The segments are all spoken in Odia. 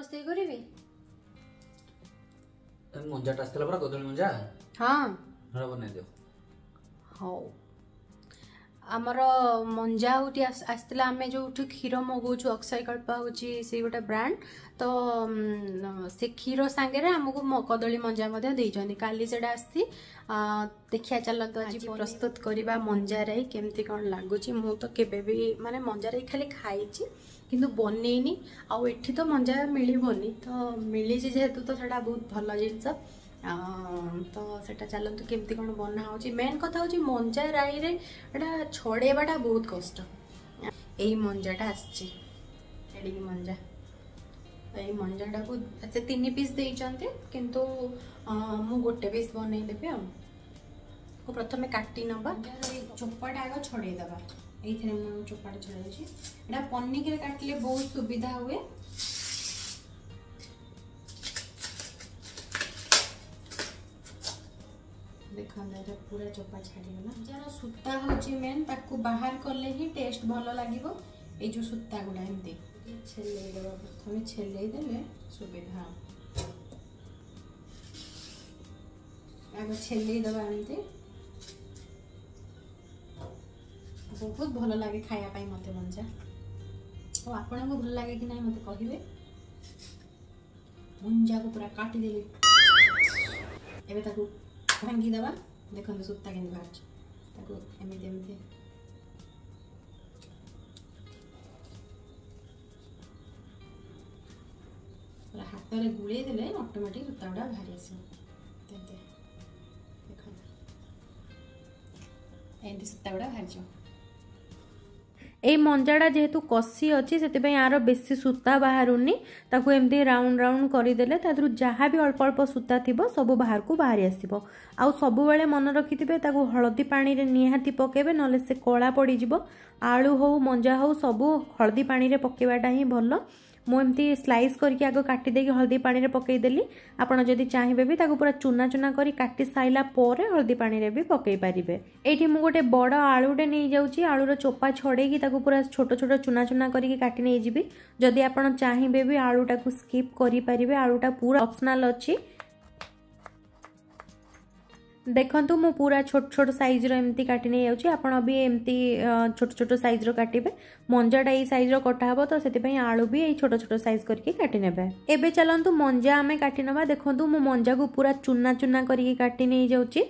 ରୋଷେଇ କରିବି। ମଞ୍ଜାଟା ଆସିଥିଲା ପରା, କଦଳୀ ମଞ୍ଜା। ହଁ, ବନେଇ ଦିଅ। ହଉ, ଆମର ମଞ୍ଜା ହେଉଛି ଆସିଥିଲା। ଆମେ ଯେଉଁଠୁ କ୍ଷୀର ମଗାଉଛୁ, ଅକ୍ଷୟକଳ୍ପ ହେଉଛି ସେଇ ଗୋଟେ ବ୍ରାଣ୍ଡ, ତ ସେ କ୍ଷୀର ସାଙ୍ଗରେ ଆମକୁ କଦଳୀ ମଞ୍ଜା ମଧ୍ୟ ଦେଇଛନ୍ତି। କାଲି ସେଇଟା ଆସିଛି। ଦେଖିବା, ଚାଲନ୍ତୁ ଆଜି ପ୍ରସ୍ତୁତ କରିବା ମଞ୍ଜା ରାଇ, କେମିତି କ'ଣ ଲାଗୁଛି। ମୁଁ ତ କେବେ ବି ମାନେ ମଞ୍ଜା ରାଇ ଖାଲି ଖାଇଛି କିନ୍ତୁ ବନେଇନି। ଆଉ ଏଠି ତ ମଞ୍ଜା ମିଳିବନି, ତ ମିଳିଛି ଯେହେତୁ ତ ସେଇଟା ବହୁତ ଭଲ ଜିନିଷ। ତ ସେଇଟା ଚାଲନ୍ତୁ କେମିତି କ'ଣ ବନା ହେଉଛି। ମେନ୍ କଥା ହେଉଛି ମଞ୍ଜା ରାଇରେ ଏଇଟା ଛଡ଼େଇବାଟା ବହୁତ କଷ୍ଟ। ଏଇ ମଞ୍ଜାଟା ଆସିଛି, ଏଡ଼ିକି ମଞ୍ଜା। ଏଇ ମଞ୍ଜାଟାକୁ ସେ 3 ପିସ୍ ଦେଇଛନ୍ତି, କିନ୍ତୁ ମୁଁ ଗୋଟେ ପିସ୍ ବନେଇଦେବି। ଆଉ ପ୍ରଥମେ କାଟି ନେବା, ଚୋପାଟା ଆଗ ଛଡ଼େଇ ଦେବା। ଏଇଥିରେ ମୁଁ ଚୋପାଟା ଛଡ଼େଇଛି। ଏଇଟା ପନିକିରେ କାଟିଲେ ବହୁତ ସୁବିଧା ହୁଏ। ଦେଖନ୍ତୁ, ଏଇଟା ପୁରା ଚୋପା ଛାଡ଼ିଗଲା। ଯାହାର ସୂତା ହେଉଛି ମେନ୍, ତାକୁ ବାହାର କଲେ ହିଁ ଟେଷ୍ଟ ଭଲ ଲାଗିବ। ଏଇ ଯେଉଁ ସୂତା ଗୁଡ଼ା ଏମିତି ଛେଲେଇ ଦେବା ପ୍ରଥମେ, ଛେଲେଇ ଦେଲେ ସୁବିଧା। ଆଗ ଛେଲେଇ ଦେବା ଏମିତି। ବହୁତ ଭଲ ଲାଗେ ଖାଇବା ପାଇଁ ମୋତେ ମଞ୍ଜା। ଆଉ ଆପଣଙ୍କୁ ଭଲ ଲାଗେ କି ନାହିଁ ମୋତେ କହିବେ। ମଞ୍ଜାକୁ ପୁରା କାଟିଦେଲି, ଏବେ ତାକୁ ଭାଙ୍ଗିଦେବା। ଦେଖନ୍ତୁ ସୂତା କେମିତି ବାହାରୁଛି। ତାକୁ ଏମିତି ଏମିତି ପୁରା ହାତରେ ଗୁଳେଇ ଦେଲେ ଅଟୋମେଟିକ୍ ସୂତା ଗୁଡ଼ା ବାହାରି ଆସିବ। ଏମିତି ଦେଖନ୍ତୁ, ଏମିତି ସୂତା ଗୁଡ଼ା ବାହାରିଯିବ। ଏଇ ମଞ୍ଜାଟା ଯେହେତୁ କଷି ଅଛି, ସେଥିପାଇଁ ଆର ବେଶୀ ସୂତା ବାହାରୁନି। ତାକୁ ଏମିତି ରାଉଣ୍ଡ ରାଉଣ୍ଡ କରିଦେଲେ ତା ଦେହରୁ ଯାହା ବି ଅଳ୍ପ ଅଳ୍ପ ସୂତା ଥିବ ସବୁ ବାହାରକୁ ବାହାରି ଆସିବ। ଆଉ ସବୁବେଳେ ମନେ ରଖିଥିବେ, ତାକୁ ହଳଦୀ ପାଣିରେ ନିହାତି ପକାଇବେ, ନହେଲେ ସେ କଳା ପଡ଼ିଯିବ। ଆଳୁ ହଉ ମଞ୍ଜା ହଉ, ସବୁ ହଳଦୀ ପାଣିରେ ପକାଇବାଟା ହିଁ ଭଲ। ମୁଁ ଏମିତି ସ୍ଲାଇସ୍ କରିକି ଆଗ କାଟିଦେଇକି ହଳଦୀ ପାଣିରେ ପକାଇଦେଲି। ଆପଣ ଯଦି ଚାହିଁବେ ବି ତାକୁ ପୁରା ଚୁନା ଚୁନା କରି କାଟି ସାରିଲା ପରେ ହଳଦୀ ପାଣିରେ ବି ପକାଇ ପାରିବେ। ଏଇଠି ମୁଁ ଗୋଟେ ବଡ଼ ଆଳୁଟେ ନେଇଯାଉଛି। ଆଳୁର ଚୋପା ଛଡ଼େଇକି ତାକୁ ପୁରା ଛୋଟ ଛୋଟ ଚୁନା ଚୁନା କରିକି କାଟି ନେଇଯିବି। ଯଦି ଆପଣ ଚାହିଁବେ ବି ଆଳୁଟାକୁ ସ୍କିପ୍ କରିପାରିବେ, ଆଳୁଟା ପୁରା ଅପସନାଲ୍ ଅଛି। ଦେଖନ୍ତୁ, ମୁଁ ପୁରା ଛୋଟ ଛୋଟ ସାଇଜ୍ର ଏମିତି କାଟି ନେଇଯାଉଛି। ଆପଣ ବି ଏମିତି ଛୋଟ ଛୋଟ ସାଇଜ୍ର କାଟିବେ। ମଞ୍ଜାଟା ଏଇ ସାଇଜ୍ର କଟା ହେବ, ତ ସେଥିପାଇଁ ଆଳୁ ବି ଏଇ ଛୋଟ ଛୋଟ ସାଇଜ୍ କରିକି କାଟି ନେବେ। ଏବେ ଚାଲନ୍ତୁ ମଞ୍ଜା ଆମେ କାଟି ନେବା। ଦେଖନ୍ତୁ, ମୁଁ ମଞ୍ଜାକୁ ପୁରା ଚୁନା ଚୁନା କରିକି କାଟି ନେଇଯାଉଛି।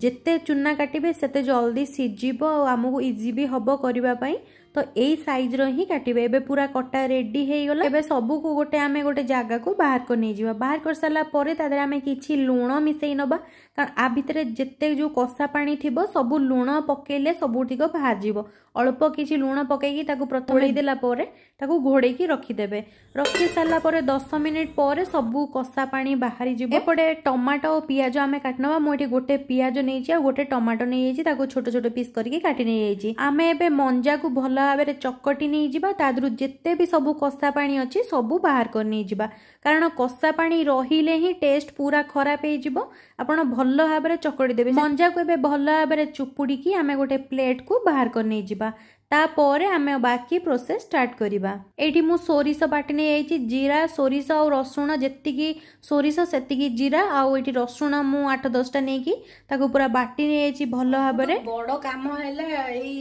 ଯେତେ ଚୁନା କାଟିବେ ସେତେ ଜଲ୍ଦି ସିଝିବ ଆଉ ଆମକୁ ଇଜି ବି ହେବ କରିବା ପାଇଁ, ତ ଏଇ ସାଇଜ୍ର ହିଁ କାଟିବେ। ଏବେ ପୁରା କଟା ରେଡି ହେଇଗଲା। ଏବେ ସବୁକୁ ଗୋଟେ ଆମେ ଗୋଟେ ଜାଗାକୁ ବାହାର କରି ନେଇଯିବା। ବାହାର କରିସାରିଲା ପରେ ତା ଦେହରେ ଆମେ କିଛି ଲୁଣ ମିଶେଇ ନେବା, କାରଣ ଆ ଭିତରେ ଯେତେ ଯେଉଁ କଷା ପାଣି ଥିବ ସବୁ ଲୁଣ ପକେଇଲେ ସବୁତିକ ବାହାରିଯିବ। ଅଳ୍ପ କିଛି ଲୁଣ ପକେଇକି ତାକୁ ପ୍ରଥମେ ଦେଲା ପରେ ତାକୁ ଘୋଡ଼େଇକି ରଖିଦେବେ। ରଖି ସାରିଲା ପରେ 10 ମିନିଟ୍ ପରେ ସବୁ କଷା ପାଣି ବାହାରିଯିବ। ଏପଟେ ଟମାଟୋ ଓ ପିଆଜ ଆମେ କାଟିନେବା। ମୁଁ ଏଠି ଗୋଟେ ପିଆଜ ନେଇଛି ଆଉ ଗୋଟେ ଟମାଟୋ ନେଇଯାଇଛି, ତାକୁ ଛୋଟ ଛୋଟ ପିସ୍ କରିକି କାଟି ନେଇଯାଇଛି। ଆମେ ଏବେ ମଞ୍ଜାକୁ ଭଲ ଭାବରେ ଚକଟି ନେଇଯିବା। ତା ଦେହରୁ ଯେତେ ବି ସବୁ କଷା ପାଣି ଅଛି ସବୁ ବାହାର କରି ନେଇଯିବା, କାରଣ କଷା ପାଣି ରହିଲେ ହିଁ ଟେଷ୍ଟ ପୁରା ଖରାପ ହେଇଯିବ। ଆପଣ ଭଲ ଭାବରେ ଚକଟି ଦେବେ ମଞ୍ଜାକୁ। ଏବେ ଭଲ ଭାବରେ ଚୁପୁଡ଼ିକି ଆମେ ଗୋଟେ ପ୍ଲେଟକୁ ବାହାର କରି ନେଇଯିବା। ତାପରେ ଆମେ ବାକି ପ୍ରୋସେସ୍ ଷ୍ଟାର୍ଟ କରିବା। ଏଇଠି ମୁଁ ସୋରିଷ ବାଟି ନେଇଯାଇଛି। ଜିରା, ସୋରିଷ ଆଉ ରସୁଣ, ଯେତିକି ସୋରିଷ ସେତିକି ଜିରା, ଆଉ ଏଇଠି ରସୁଣ ମୁଁ 8 10ଟା ନେଇକି ତାକୁ ପୁରା ବାଟି ନେଇଯାଇଛି ଭଲ ଭାବରେ। ବଡ଼ କାମ ହେଲା ଏଇ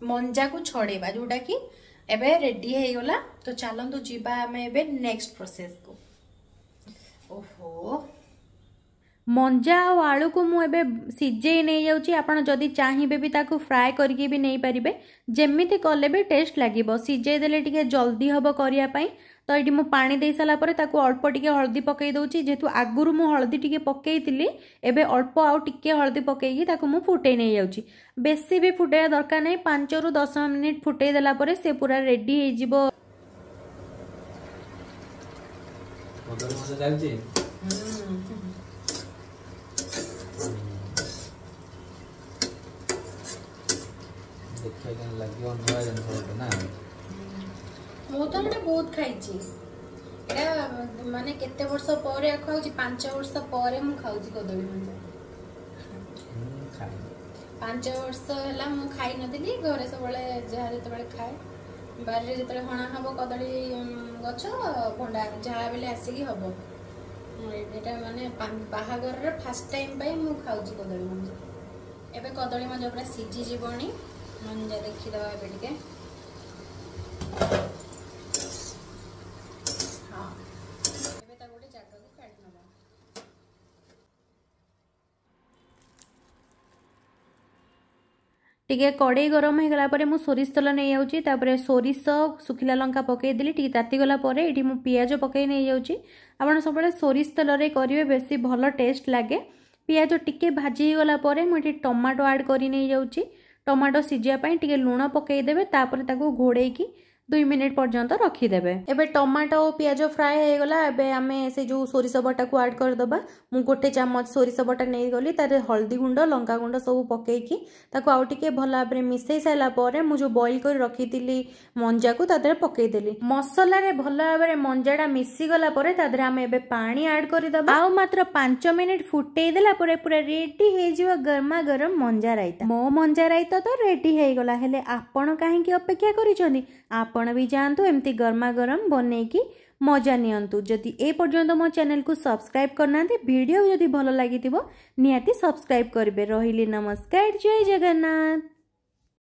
ମଞ୍ଜାକୁ ଛଡ଼େଇବା, ଯୋଉଟାକି ଏବେ ରେଡି ହେଇଗଲା। ତ ଚାଲନ୍ତୁ ଯିବା ଆମେ ଏବେ ନେକ୍ସଟ ପ୍ରୋସେସକୁ। ଓହୋ, ମଞ୍ଜା ଆଉ ଆଳୁକୁ ମୁଁ ଏବେ ସିଝେଇ ନେଇଯାଉଛି। ଆପଣ ଯଦି ଚାହିଁବେ ବି ତାକୁ ଫ୍ରାଏ କରିକି ବି ନେଇପାରିବେ, ଯେମିତି କଲେ ବି ଟେଷ୍ଟ ଲାଗିବ। ସିଝେଇ ଦେଲେ ଟିକେ ଜଲ୍ଦି ହେବ କରିବା ପାଇଁ। ତ ଏଇଠି ମୁଁ ପାଣି ଦେଇ ସାରିଲା ପରେ ତାକୁ ଅଳ୍ପ ଟିକେ ହଳଦୀ ପକାଇ ଦେଉଛି। ଯେହେତୁ ଆଗରୁ ମୁଁ ହଳଦୀ ଟିକେ ପକାଇଥିଲି, ଏବେ ଅଳ୍ପ ଆଉ ଟିକେ ହଳଦୀ ପକାଇକି ତାକୁ ମୁଁ ଫୁଟେଇ ନେଇଯାଉଛି। ବେଶୀ ବି ଫୁଟେଇବା ଦରକାର ନାହିଁ, 5ରୁ 10 ମିନିଟ୍ ଫୁଟେଇ ଦେଲା ପରେ ସେ ପୁରା ରେଡି ହେଇଯିବ। କଦଳୀ ମଜା ଚାଲିଛି। ଦେଖିବା କେମିତି ଲାଗିବ, ନୂଆ ଜିନିଷ ଗୋଟେ ନା। ମୁଁ ତ ଏଇଟା ବହୁତ ଖାଇଛି। ଏଇଟା ମାନେ କେତେ ବର୍ଷ ପରେ ଖାଉଛି, 5 ବର୍ଷ ପରେ ମୁଁ ଖାଉଛି କଦଳୀ ମଞ୍ଜା। ମୁଁ ଖାଇନି। 5 ବର୍ଷ ହେଲା ମୁଁ ଖାଇନଥିଲି। ଘରେ ସବୁବେଳେ ଯାହା ଯେତେବେଳେ ଖାଏ, ବାରିରେ ଯେତେବେଳେ ହଣା ହବ କଦଳୀ ଗଛ ଭଣ୍ଡା ଯାହା ବେଲେ ଆସିକି ହବ। ଏଇଟା ମାନେ ବାହାଘରରେ ଫାର୍ଷ୍ଟ ଟାଇମ୍ ପାଇଁ ମୁଁ ଖାଉଛି କଦଳୀ ମଞ୍ଜା। ଏବେ କଦଳୀ ମଞ୍ଜା ପୁରା ସିଝିଯିବଣି, ମଞ୍ଜା ଦେଖିଦେବା ଏବେ ଟିକେ। ହଁ, ଏବେ ତାକୁ ଗୋଟେ ଜାଗାକୁ କାଢ଼ି ନେବା। ଟିକେ କଡ଼େଇ ଗରମ ହେଇଗଲା ପରେ ମୁଁ ସୋରିଷ ତେଲ ନେଇଯାଉଛି। ତାପରେ ସୋରିଷ, ଶୁଖିଲା ଲଙ୍କା ପକାଇଦେଲି। ଟିକେ ତାତିଗଲା ପରେ ଏଠି ମୁଁ ପିଆଜ ପକାଇ ନେଇଯାଉଛି। ଆପଣ ସବୁବେଳେ ସୋରିଷ ତେଲରେ କରିବେ, ବେଶୀ ଭଲ ଟେଷ୍ଟ ଲାଗେ। ପିଆଜ ଟିକେ ଭାଜି ହେଇଗଲା ପରେ ମୁଁ ଏଠି ଟମାଟୋ ଆଡ଼୍ କରି ନେଇଯାଉଛି। ଟମାଟୋ ସିଝିବା ପାଇଁ ଟିକେ ଲୁଣ ପକାଇଦେବେ, ତାପରେ ତାକୁ ଘୋଡ଼େଇକି 2 ମିନିଟ୍ ପର୍ଯ୍ୟନ୍ତ ରଖିଦେବେ। ଏବେ ଟମାଟୋ ପିଆଜ ଫ୍ରାଏ ହେଇଗଲା। ଏବେ ଆମେ ସେ ଯେଉଁ ସୋରିଷ ବଟାକୁ ଆଡ଼୍ କରିଦେବା। ମୁଁ 1 ଚାମଚ ସୋରିଷ ବଟା ନେଇଗଲି, ତାରେ ହଳଦୀ ଗୁଣ୍ଡ, ଲଙ୍କା ଗୁଣ୍ଡ ସବୁ ପକେଇକି ତାକୁ ଆଉ ଟିକେ ଭଲ ଭାବରେ ମିଶାଇ ସାରିଲା ପରେ ମୁଁ ଯେଉଁ ବଏଲ୍ କରି ରଖିଥିଲି ମଞ୍ଜାକୁ ତା ଦେହରେ ପକେଇଦେଲି। ମସଲାରେ ଭଲ ଭାବରେ ମଞ୍ଜାଟା ମିଶିଗଲା ପରେ ତା ଦେହରେ ଆମେ ଏବେ ପାଣି ଆଡ଼୍ କରିଦେବା। ଆଉ ମାତ୍ର 5 ମିନିଟ୍ ଫୁଟେଇ ଦେଲା ପରେ ପୁରା ରେଡି ହେଇଯିବ ଗରମା ଗରମ ମଞ୍ଜା ରାଇତା। ମୋ ମଞ୍ଜା ରାଇତା ତ ରେଡି ହେଇଗଲା, ହେଲେ ଆପଣ କାହିଁକି ଅପେକ୍ଷା କରିଛନ୍ତି? ଆପଣ ବି ଯାଆନ୍ତୁ, ଏମିତି ଗରମା ଗରମ ବନେଇକି ମଜା ନିଅନ୍ତୁ। ଯଦି ଏ ପର୍ଯ୍ୟନ୍ତ ମୋ ଚ୍ୟାନେଲକୁ ସବସ୍କ୍ରାଇବ୍ କରିନାହାନ୍ତି, ଭିଡ଼ିଓ ଯଦି ଭଲ ଲାଗିଥିବ ନିହାତି ସବସ୍କ୍ରାଇବ୍ କରିବେ। ରହିଲି, ନମସ୍କାର, ଜୟ ଜଗନ୍ନାଥ।